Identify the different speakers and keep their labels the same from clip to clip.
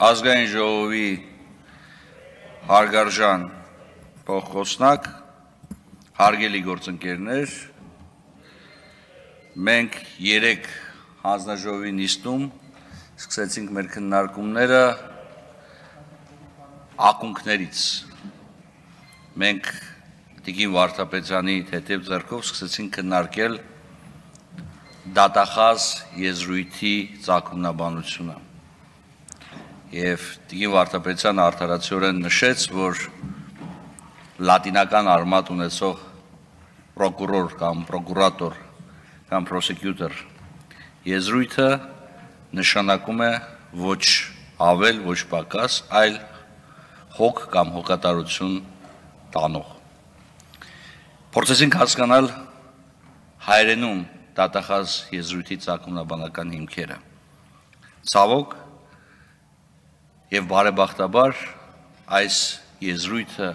Speaker 1: Ազգային ժողովի հարգարժան փոխխոսնակ, հարգելի գործընկերներ, մենք 3 հանձնաժողովի նիստում սկսեցինք մեր քննարկումները ակունքներից։ Մենք Տիկին Վարդապետյանի թեթև ձեռքով սկսեցինք քննարկել դատախազ եզրույթի ծագումնաբանությունը։ Եվ Տիկին Վարդապետյանը արդարացիորեն նշեց, որ լատինական արմատ ունեցող պրոկուրոր կամ պրոկուրատոր կամ պրոսեկյուտոր եզրույթը նշանակում է ոչ ավել, ոչ պակաս, այլ հոգ կամ հոգատարություն տանող։ Փորձեցինք հասկանալ հայերենում դատախազ եզրույթի ծագումնաբանական հիմքերը։ Ցավոք եւ բարեբախտաբար այս եզրույթը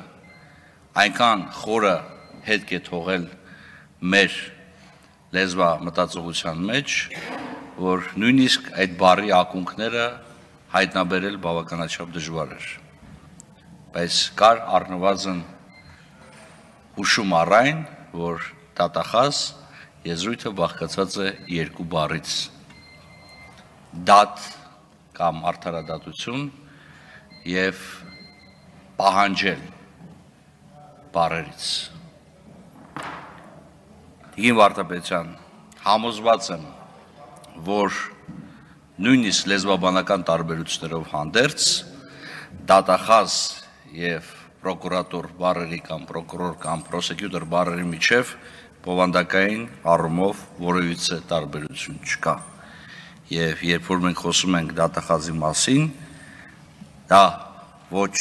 Speaker 1: այնքան խորը հետք է թողել մեր լեզվա մտածողության մեջ, որ նույնիսկ այդ բառի ակունքները հայտնաբերել բավականաչափ դժվար էր։ Բայց կար առնվազն հուշում առայն, որ դատախազ եզրույթը բաղկացած է 2 բառից՝ դատ կամ արդարադատություն եւ պահանջել բառերից։ Տիկին Վարդապետյան, համոզված եմ, որ նույնիսկ լեզվաբանական տարբերություններով հանդերձ դատախազ եւ պրոկուրատոր բառերի կամ պրոկուրոր կամ պրոսեկյուտոր բառերի միջև բովանդակային առումով որևիցե տարբերություն չկա։ Եվ երբ որ մենք խոսում ենք դատախազի մասին, դա ոչ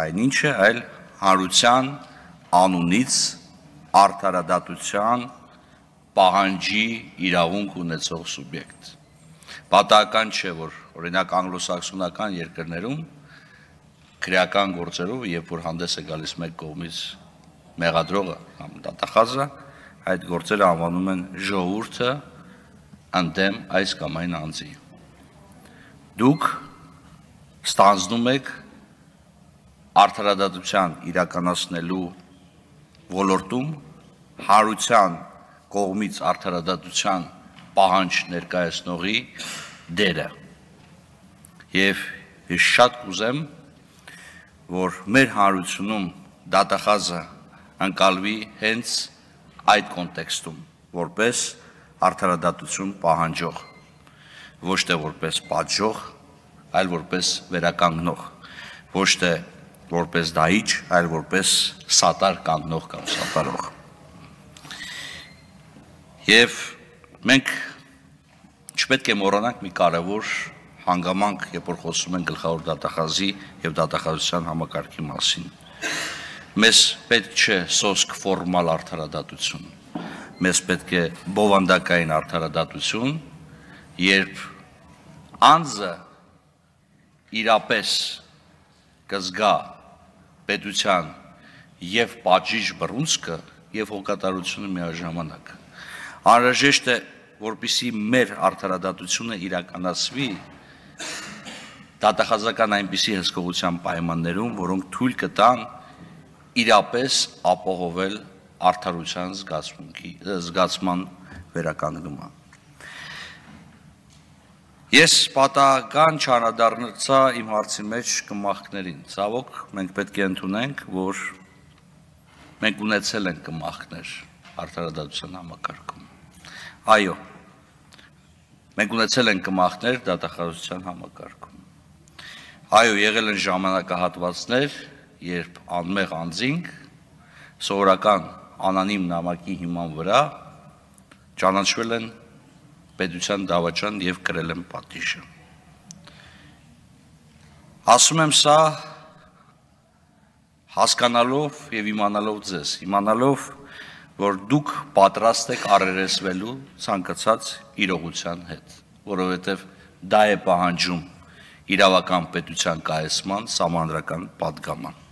Speaker 1: այնինչ է, այլ հանրության անունից արդարադատության պահանջի իրավունք ունեցող սուբյեկտ։ Պատահական չէ, որ օրինակ անգլոսաքսոնական երկրներում քրեական գործերով, երբ որ հանդես է գալիս մեկ կողմից մեղադրողը կամ դատախազը, այդ գործերը անվանում են ժողովուրդը ընդդեմ այս կամ այն անձի։ Դուք ստանձնում եք արդարադատության իրականացնելու ոլորտում հանրության կողմից արդարադատության պահանջ ներկայացնողի դերը։ Եվ ես շատ կուզեմ, որ մեր հանրությունում դատախազը ընկալվի հենց այդ կոնտեքստում, որպես արդարադատություն պահանջող, ոչ թե որպես պատժող, այլ որպես վերականգնող, ոչ թե որպես դահիճ, այլ որպես սատար կանգնող կամ սատարող։ Եվ մենք չպետք է մոռանանք մի կարևոր հանգամանք, երբ որ խոսում են գլխավոր դատախազի եւ դատախազության համակարգի մասին։ Մեզ պետք չէ սոսկ ֆորմալ արդարադատություն, մեզ պետք է բովանդակային արդարադատություն, երբ անձը իրապես կզգա պետության եւ պատժիչ բռունցքը եւ հոգատարությունը միաժամանակ։ Անհրաժեշտ է, որպեսզի մեր արդարադատությունը իրականացվի դատախազական այնպիսի հսկողության պայմաններում, որոնք թույլ կտան իրապես ապահովել արդարության զգացման վերականգնումը։ Ես պատահական չանդրադարձա իմ հարցի մեջ կմախքներին։ Ցավոք, մենք պետք է ընդունենք, որ մենք ունեցել ենք կմախքներ արդարադատության համակարգում։ Այո, մենք ունեցել ենք կմախքներ դատախազության համակարգում։ Այո, եղել են ժամանակահատվածներ, երբ անմեղ անձինք սովորական անանիմ նամակի հիման վրա ճանաչվել են պետության դավաճան եւ կրել են պատիժը։ Ասում եմ սա հասկանալով եւ իմանալով ձեզ, իմանալով, որ դուք պատրաստ եք առերեսվելու ցանկացած իրողության հետ, որովհետեւ դա է պահանջում իրավական պետության կայացման սահմանադրական պատգաման։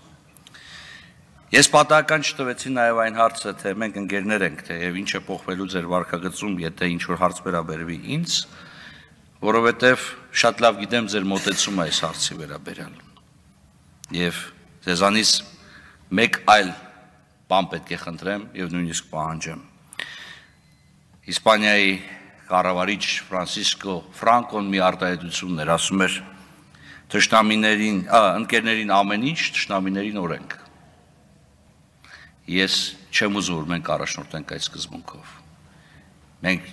Speaker 1: Ես պատահական չտվեցի նաև այն հարցը, թե մենք ընկերներ ենք, թե եւ ինչ է փոխվելու ձեր վարքագծում, եթե ինչ որ հարց վերաբերվի ինձ, որովհետև շատ լավ գիտեմ ձեր մոտեցումը այս հարցի վերաբերյալ։ Եվ ձեզանից մեկ այլ բան պետք է խնդրեմ եւ նույնիսկ պահանջեմ։ Իսպանիայի կառավարիչ Ֆրանցիսկո Ֆրանկոն մի արտահայտություն էր, ասում էր. թշնամիներին, ընկերներին ամեն ինչ, թշնամիներին օրենք։ Ես չեմ ուզում, որ մենք առաջնորդենք այդ սկզբունքով։ Մենք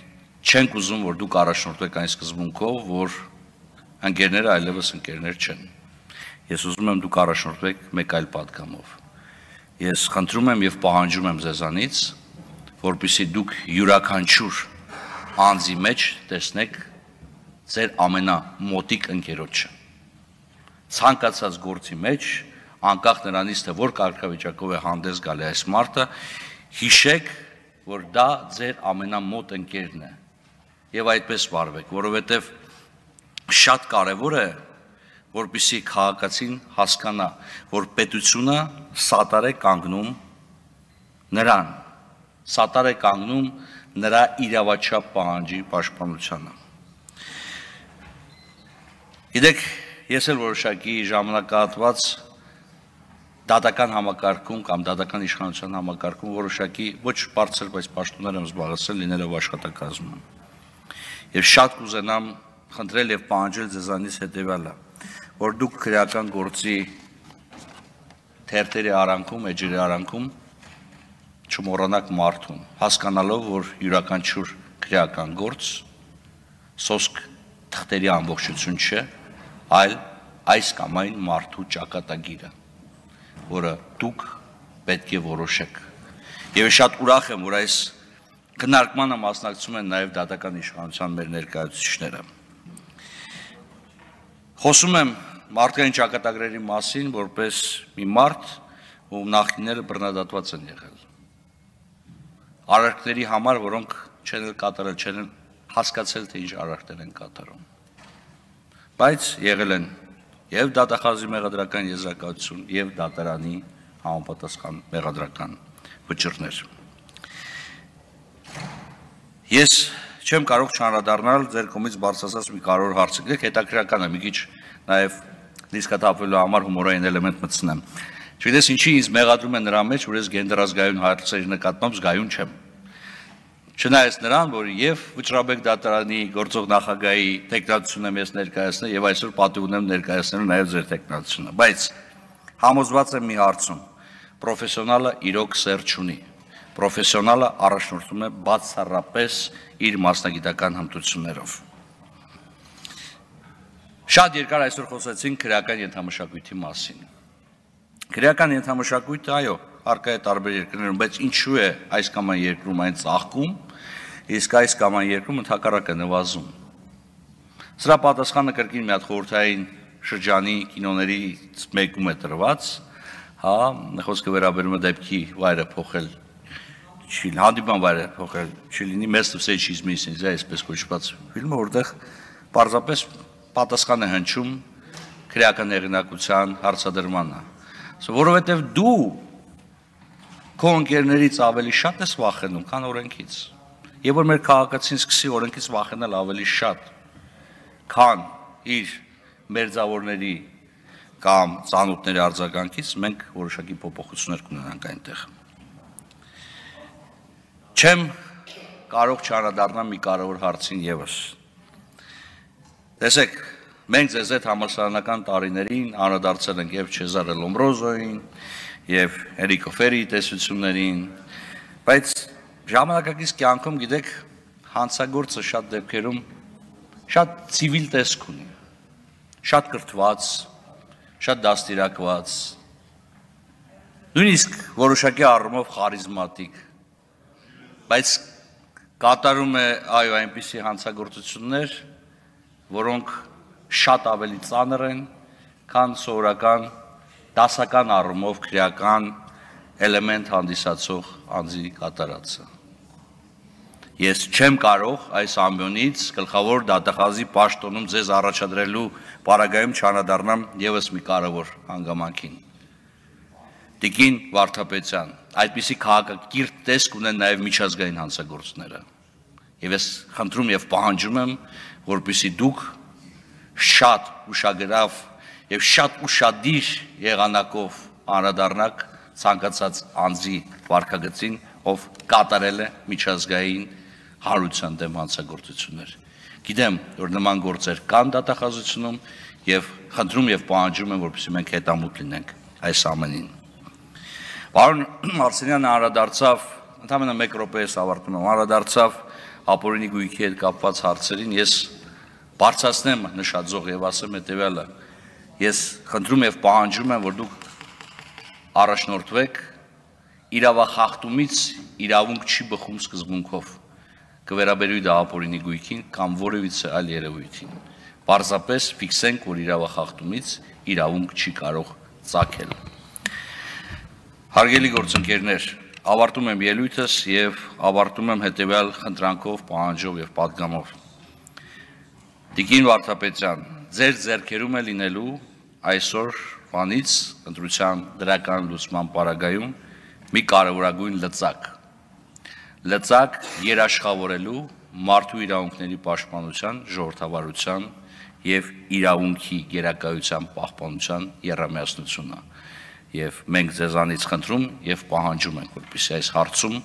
Speaker 1: չենք ուզում, որ դուք առաջնորդեք այն սկզբունքով, որ ընկերները այլևս ընկերներ չեն։ Ես ուզում եմ դուք առաջնորդվեք մեկ այլ պատգամով։ Ես խնդրում եմ եւ պահանջում եմ ձեզանից, որպեսզի դուք յուրաքանչյուր անձի մեջ տեսնեք ձեր ամենամոտիկ ընկերոջը։ Ցանկացած գործի մեջ, անկախ նրանից, թե որ կարգավիճակով է հանդես գալի այս մարդը, հիշեք, որ դա ձեր ամենամոտ ընկերն է։ Եվ այդպես վարվեք, որովհետև շատ կարևոր է, որպեսզի քաղաքացին հասկանա, որ պետությունը սատար է կանգնում նրան, սատար է կանգնում նրա իրավաչափ պահանջի պաշտպանությանը։ Գիտեք, ես էլ որոշակի ժամանակահատված դատական համակարգում կամ դատական իշխանության համակարգում որոշակի ոչ բարձր, բայց պաշտոններ եմ զբաղեցրել լինելով աշխատակազմում։ Եվ շատ կուզենամ խնդրել եւ պահանջել ձեզանից հետեւյալը, որ դուք քրեական գործի թերթերի արանքում, էջերի արանքում չմոռանաք մարդուն, հասկանալով, որ յուրաքանչյուր քրեական գործ սոսկ թղթերի ամբողջություն չէ, այլ այս կամ այն մարդու ճակատագիրը, որը դուք պետք է որոշեք։ Եվ շատ ուրախ եմ, որ այս քննարկմանը մասնակցում են նաև դատական իշխանության մեր ներկայացուցիչները։ Խոսում եմ մարդկային ճակատագրերի մասին, որպես մի մարդ, ում նախնիները բռնադատված են եղել։ Արարքների համար, որոնք չեն կատարել, չեն հասկացել, թե ինչ արարքներ են կատարում։ Բայց եղել են եւ դատախազի մեղադրական եզրակացություն եւ դատարանի համապատասխան մեղադրական վճիռներ։ Ես չեմ կարող չանդրադառնալ ձեր կողմից բարձրացած մի կարևոր հարցի, գիտեք, հետաքրքրական է, մի քիչ նաեւ լիցքաթափվելու համար հումորային էլեմենտ մտցնեմ։ Չգիտես ինչի ինձ մեղադրում են նրա մեջ, որ ես գենդերազգայուն հարցերի նկատմամբ զգայուն չեմ։ Չնայած նրան, որ եւ Վճռաբեկ դատարանի գործող նախագահի տեխնացությունը ես ներկայացնել եւ այսօր պատիվ ունեմ ներկայացնելու նաեւ ձեր տեխնացությունը, բայց համոզված եմ մի հարցում, պրոֆեսիոնալը իրոք սեր չունի, պրոֆեսիոնալը առաջնորդում է բացառապես իր մասնագիտական հմտություններով։ Շատ երկար այսօր խոսեցինք քրեական ենթամշակույթի մասին։ Քրեական ենթամշակույթը, այո, առկա է տարբեր երկրներում, բայց ինչու է այս կամ այն երկրում այն ծաղկում, իսկ այս կամ այն երկրում ընդհակառակը նվազում։ Սրա պատասխանը կրկին մի հատ խորհրդային շրջանի կինոներից մեկում է տրված, հա, խոսքը վերաբերում է դեպքի վայրը փոխել, հանդիպման վայրը փոխել, չլինի մեծ սեչիզմից, այսպես կոչված ֆիլմը, որտեղ պարզապես պատասխան է հնչում քրեական հեղինակության հարցադրմանը, որովհետև դու քո ընկերներից ավելի շատ ես վախենում, քան օրենքից։ Եվ որ մեր քաղաքացին սկսի օրենքից վախենալ ավելի շատ, քան իր մերձավորների կամ ծանոթների արձագանքից, մենք որոշակի փոփոխություններ կունենանք այնտեղ։ Չեմ կարող չանդրադառնալ մի կարևոր հարցին եւս։ Տեսեք, մենք ձեզ այդ համալսարանական տարիներին անդրադարձել ենք եւ Չեզարե Լոմբրոզոին, եւ Էրիկո Ֆերիի տեսություններին, բայց ժամանակակից կյանքում, գիտեք, հանցագործը շատ դեպքերում շատ ցիվիլ տեսք ունի, շատ կրթված, շատ դաստիարակված, նույնիսկ որոշակի առումով խարիզմատիկ, բայց կատարում է այո այնպիսի հանցագործություններ, որոնք շատ ավելի ծանր են, քան սովորական դասական առումով քրեական էլեմենտ հանդիսացող անձի կատարածը։ Ես չեմ կարող այս ամբյոնից գլխավոր դատախազի պաշտոնում ձեզ առաջադրելու պարագայում չանդրադառնամ եւս մի կարևոր հանգամանքին։ Տիկին Վարդապետյան, այդպիսի քաղաքակիրթ տեսք ունեն նաեւ միջազգային հանցագործները։ Եվ ես խնդրում եւ պահանջում եմ, որպեսզի դուք շատ ուշագրավ եւ շատ ուշադիր եղանակով անդրադառնաք ցանկացած անձի վարքագծին, ով կատարել է միջազգային հանրության դեմ հանցագործություններ։ Գիտեմ, որ նման գործեր կան դատախազությունում եւ խնդրում եւ պահանջում եմ, որպեսզի մենք հետամուտ լինենք այս ամենին։ Պարոն Արսենյանը անդրադարձավ, ընդամենը 1 րոպեից ավարտում եմ, անդրադարձավ ապօրինի գույքի հետ կապված հարցերին, ես բարձրացնեմ նշածող եւ ասեմ հետեւյալը. ես խնդրում եւ պահանջում եմ, որ դուք առաջնորդվեք իրավախախտումից իրավունք չի բխում սկզբունքով, կվերաբերվի դա ապօրինի գույքին կամ որևիցե այլ երևույթին։ Պարզապես ֆիքսենք, որ իրավախախտումից իրավունք չի կարող ծագել։ Հարգելի գործընկերներ, ավարտում եմ ելույթս եւ ավարտում եմ հետեւյալ խնդրանքով, պահանջով եւ պատգամով։ Տիկին Վարդապետյան, ձեր ձեռքերում է լինելու այսօրվանից ընտրության դրական լուծման պարագայում մի կարևորագույն լծակ երաշխավորելու մարդու իրավունքների պաշտպանության, ժողովրդավարության եւ իրավունքի գերակայության պահպանության եռամիասնությունը։ Եվ մենք ձեզանից խնդրում եւ պահանջում ենք, որպեսզի այս հարցում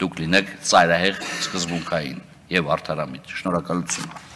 Speaker 1: դուք լինեք ծայրահեղ սկզբունքային եւ արդարամիտ։ Շնորհակալություն։